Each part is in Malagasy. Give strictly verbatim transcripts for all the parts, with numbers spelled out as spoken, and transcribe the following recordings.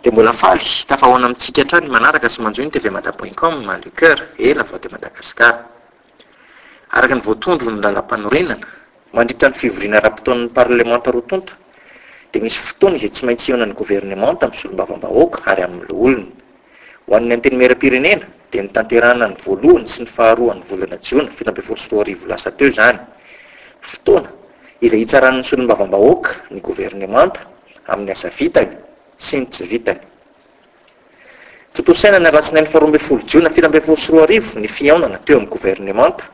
Dia mbola faly tafahoana amintsika hatrany manaraka sy manjohy ny T V mada point com, le cœur et la voix de Madagascar. Araka ny voatondro ny lalam-panorenana, mandritra ny fivoriana ara-potoan'ny parlemanta roa tonta, dia misy fotoana izay tsy maintsy ihaonan'ny governemanta amin'ny solombavambahoaka ary amin'ny loholona. Ho an'ny antenimieram-pirenena, dia nitanterahana ny voalohany sy ny faharoa ny volana jiona fito ambin'ny folo sy roa arivo lasa teo izany. Fotoana izay hitsaran'ny solombavambahoaka ny governemanta amin'ny asa vitany sy ny tsy vitany. Tontosaina ny alatsinainy faharoa ambin'ny folo jiona fito ambin'ny folo sy roa arivo ny fihaonana teo amin'ny governemanta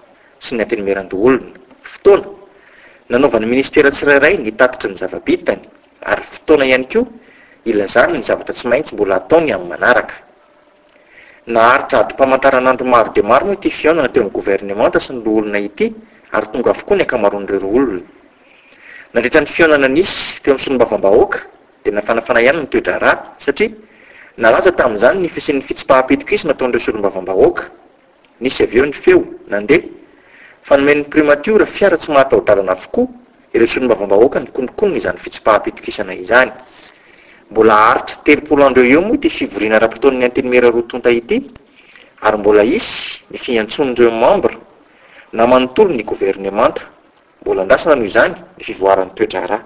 sy ny antenimieran-doholona. Fotoana nanaovan'ny ministera tsirairay ny tatitry ny zava-bitany, ary fotoana ihany koa ilazany ny zavatra tsy maintsy mbola ataony amin'ny manaraka. Naharitra adim-pamantaranandro maro dia maro moa ity fihaonana teo amin'ny governemanta sy ny loholona ity, ary tonga avokoa ny ankamaroan'ireo olona. Nandritra ny fihaonana nisy teo amin'ny solombavambahoaka, dia nafanafana ihany ny toe-draharaha, satria nalaza tamin'izany ny fisian'ny fitsipaham-pitokisana nataon'ireo solombavambahoaka. Nisy avy eo ny feo nandeha fa nomen'ny primatiora fiara tsy mahataho-dalana avokoa ireo solombavambahoaka nikononkonona izany fitsipaham-pitokisana izany. Mbola haharitra telopolo andro eo eo moa ity fivoriana ara-potoan'ny antenimiera roa tonta ity, ary mbola hisy ny fiantsoan'ireo membre na manontolo ny governemanta. Mbola andrasana noho izany ny fivoaran'ny toe-draharaha.